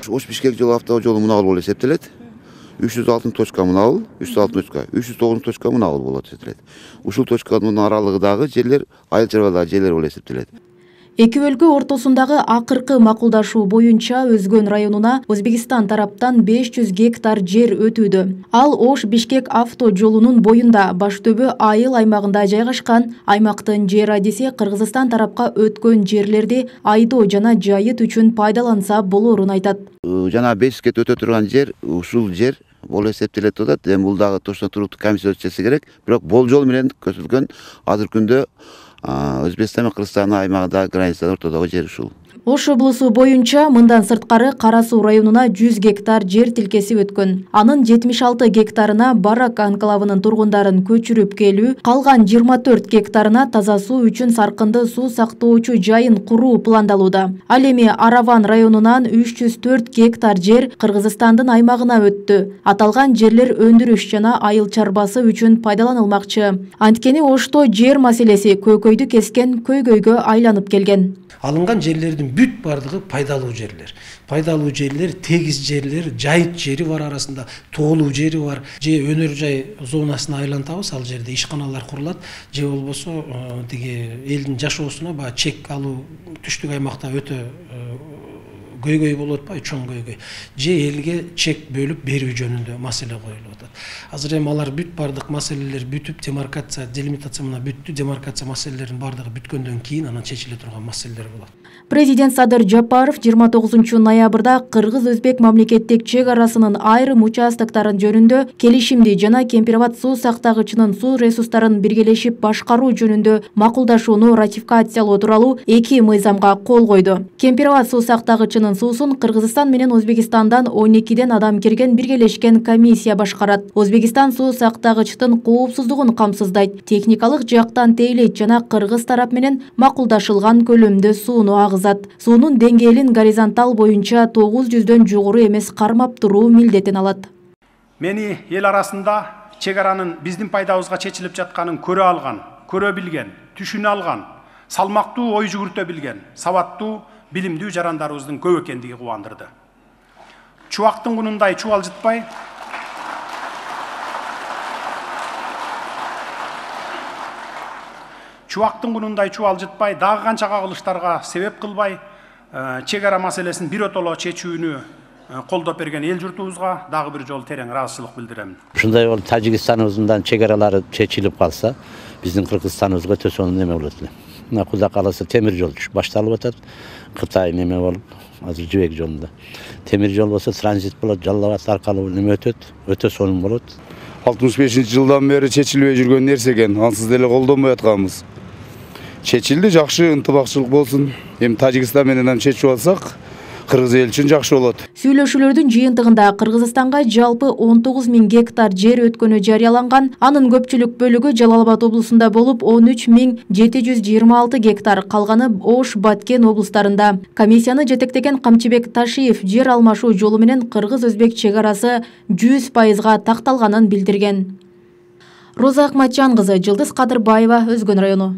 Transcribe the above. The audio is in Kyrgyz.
Ош-Бишкек жол автожолу мына болуп эсептелет. 306 точка мына 306 точка, 309 точка мына болот эсептелет. Ушул точканын аралыгындагы жерлер айыл чарбадагы жерлер болуп эсептелет. Эки өлкө ортосундагы акыркы макулдашуу боюнча Өзгөн районуна Өзбекстан тараптан 500 гектар жер өтүүдө. Ал Ош-Бишкек автожолунун боюнда Баштөбө айыл аймагында жайгашкан. Аймактын жер адиси Кыргызстан тарапка өткөн жерлерди айдоо жана жайыт үчүн пайдаланса болорун айтат. Жана 500 гектар өтө турган жер, ушул жер болуп эсептелет атат. Эми бул дагы точно туруктуу комиссия өтүшүшү керек. Бирок болжол менен көрсөтүлгөн азыркы күндө Өзбекстан менен Кыргызстан аймагында границада ортодогу жер ушул. Ош облусу боюнча мындан сырткары Кара Суу районуна 100 гектар жер тилкеси өткөн. Анын 76 гектарына Барак анклавынын тургундарын көчүрүп келүү, калган 24 гектарына таза суу үчүн саркынды суу сактоочу жайын куруу пландалууда. Ал эми Араван районунан 304 гектар жер Кыргызстандын аймагына өттү. Аталган жерлер өндүрүш жана айыл чарбасы үчүн пайдаланылмакчы. Анткени Ошто жер маселеси көкөйдү кескен көйгөйгө айланып келген. Алынган жерлердин бүт бардыгы пайдалуу жерлер. Пайдалуу жерлер, тегиз жерлер, жайыт жери бар арасында, тоолуу жери бар. Же өнөр жай зонасына айлантабыз, ал жерде ишканалар курулат, же болбосо тиги элдин жашоосуна баягы чек алуу түштүк аймакта өтө көйгөй болуп атпайбы, чоң көйгөй. Же элге чек бөлүп берүү жөнүндө маселе коюлуп атат. Азыр эми алар бүт бардык маселелер бүтүп, демаркация, делимитация мына бүттү, демаркация маселелеринин бардыгы бүткөндөн кийин анан чечиле турган маселелер болот. Президент Садыр Жапаров 29 ноябрда Кыргыз-Өзбек мамлекеттик чек арасынын айрым участоктарын жөнүндө келишимди жана Кемпирабад суу сактагычынын суу ресурстарын биргелешип башкаруу жөнүндө макулдашууну ратификациялоо тууралуу 2 мыйзамга кол койду. Кемпирабад суу сактагычынын суусун Кыргызстан менен Өзбекстандан 12ден адам кирген биргелешкен комиссия башкарат. Өзбекстан суу сактагычтын коопсуздугун камсыздайт, техникалык жактан тейлейт жана Кыргыз тарап менен макулдашылган көлөмдө сууну агызат. Суунун деңгээлин горизонтал боюнча 900дөн жогору эмес кармап туруу милдетин алат. Мени эл арасында чек аранын биздин пайдабызга чечилип жатканын көрө алган, көрө билген, түшүнө алган, салмактуу ой жүгүртө билген, сабаттуу, билимдүү жарандарыбыздын көп экендиги кубандырды. Чубактын кунундай чубалжытпай, дагы канча кагылыштарга себеп кылбай, чек ара маселесин биротоло чечүүнү колдоп берген эл журтубузга дагы бир жолу терең ыраазычылык билдирем. Ушундай болуп Тажикстаныбыздан чек аралары чечилип калса, биздин Кыргызстаныбызга төсөнүн неме болот эле. Мына Куда каласы темир жол башталып атат. Кытай неме болуп, азыр жибек жолунда. Темир жол болсо транзит болот, Жалал Абад аркылуу неме өтөт, өтө сонун болот. 65-жылдан бери чечилбей жүргөн нерсе экен, ансыз деле колдонбой атканбыз. Чечилди, жакшы ынтымакчылык болсун. Эми Тажикстан менен чечип алсак, Кыргыз эл үчүн жакшы болот. Сүйлөшүүлөрдүн жыйынтыгында Кыргызстанга жалпы 19.000 гектар жер өткөнү жарыяланган. Анын көпчүлүк бөлүгү Жалал Абад облусунда болуп, 13.726 гектар, калганы Ош, Баткен облустарында. Комиссияны жетектеген Камчыбек Ташиев жер алмашуу жолу менен Кыргыз-Өзбек чек арасы 100%га такталганын билдирген. Роза Акматжан кызы, Жылдыз Кадырбаева, Өзгөн району.